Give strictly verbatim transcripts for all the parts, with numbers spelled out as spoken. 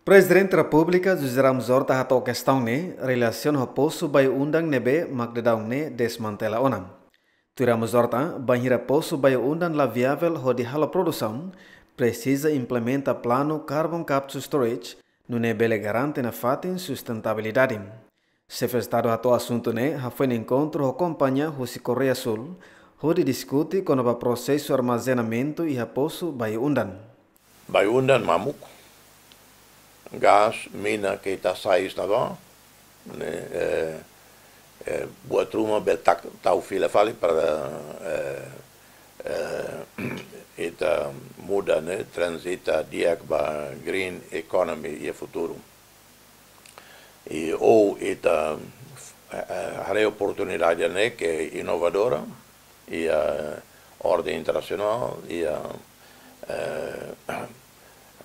Prezidente Repúblika José Ramos Horta hato'o kestaun ne'e relasiona ho posu Bayu-Undan ne'ebé mak daudaun ne'e desmantela ona. Tuir Ramos Horta, bainhira posu Bayu-Undan la viavel hodi halo produsaun, presiza implementa planu carbon capture storage, nune'e bele garante nafatin sustentabilidade. Xefe Estadu hato'o asuntu ne'e hafoin enkontru ho kompañia husi Koreia Súl, hodi diskute kona-ba prosesu armazenamentu iha posu Bayu-Undan. Bayu-Undan mamuk, gás, mina ke ita sai estaba, ne'e, eh, eh, buat ruma bele tau fila fali para, eh, eh, ita muda, ne'e, transita di'ak ba green economy iha futuru. I ou ita, eh, eh, haree oportunidade ne'e ke inovadora, iha orden internasionál, iha, eh,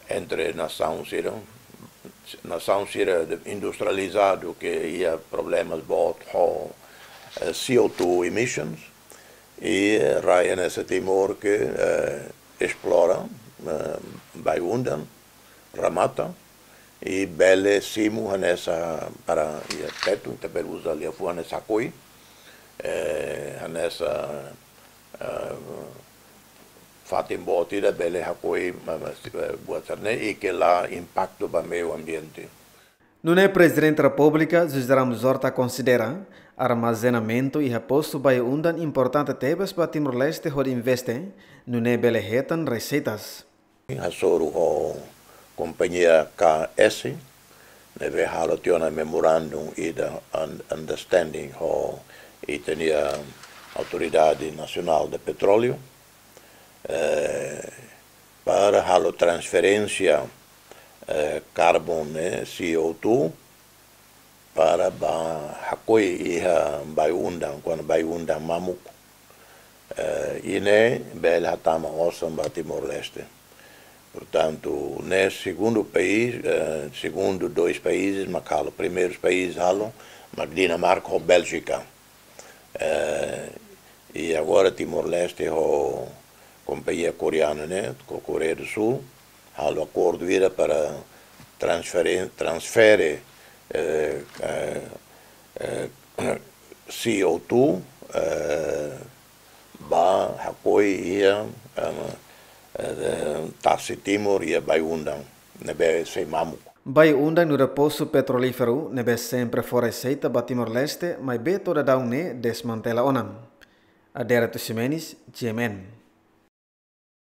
entre nasaun sira, nasaun sira industrializadu ke iha problemas boot ho, eh, C O two emissions, i rai hanesan Timor ke, eh, esplora, eh, Bayu-Undan, remata, i bele simu hanesan para iha tetu, ita bele uza liafuan hanesan hakoi, eh, hanesan, eh, fatin boot ida bele hakoi, ma, ma, eh, buat sira-ne'e, i ke la impaktu ba meiu ambiente. Nune'e Prezidente Repúblika José Ramos Horta konsidera armazenamentu iha posu Bayu-Undan importante tebes ba Timor-Leste hodi investe, nune'e bele hetan reseitas. Hasoru ho kompañia K S, ne'ebé halo tiha ona memorandum ida un-, understanding ho ita-nia Autoridade Nasionál de Petróleu, eh, para halo transferénsia, eh, karbon, ne'e, C O two, para ba hakoi iha Bayu-Undan, kuandu Bayu-Undan mamuk. Eh, i ne'e bele hatama osan ba Timor-Leste. Portantu, ne'e segundu país, eh, segundu dois países mak halo, primeirus país halo, mak Dinamarka ho Bélgika. Eh, i agora Timor-Leste ho kompañia koreana ne'e, ho Koreia do Sul, halo akordu ida para transfere, transfere, eh, eh, eh, C O two, eh, ba hakoi iha, eh, eh, tasi Timor iha Bayu-Undan, ne'ebé sei mamuk. Bayu-Undan nu'udar posu petrolíferu ne'ebé sempre fó reseita ba Timor-Leste, maibé to'o daudaun ne'e desmantela ona. Adérito Ximenes, G M N.